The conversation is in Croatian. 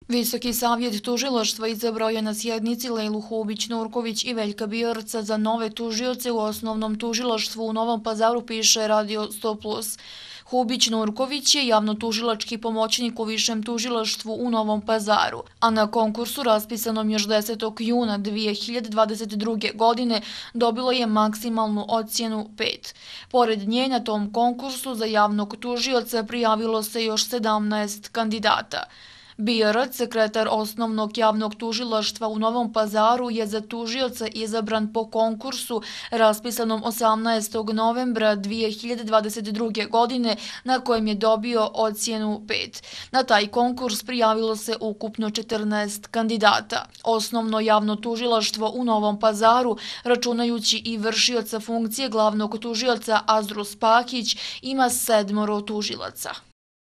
Visoki savjet tužilaštva izabrao je na sjednici Lejlu Hubić-Nurković i Veljka Biorca za nove tužioce u Osnovnom tužilaštvu u Novom Pazaru, piše Radio 100+. Hubić-Nurković je javnotužilački pomoćnik u Višem tužilaštvu u Novom Pazaru, a na konkursu raspisanom još 10. juna 2022. godine dobilo je maksimalnu ocjenu 5. Pored nje na tom konkursu za javnog tužioca prijavilo se još 17 kandidata. Biorac, sekretar Osnovnog javnog tužilaštva u Novom Pazaru, je za tužioca izabran po konkursu raspisanom 18. novembra 2022. godine, na kojem je dobio ocjenu 5. Na taj konkurs prijavilo se ukupno 14 kandidata. Osnovno javno tužilaštvo u Novom Pazaru, računajući i vršioca funkcije glavnog tužioca Azdru Spahić, ima 7 tužilaca.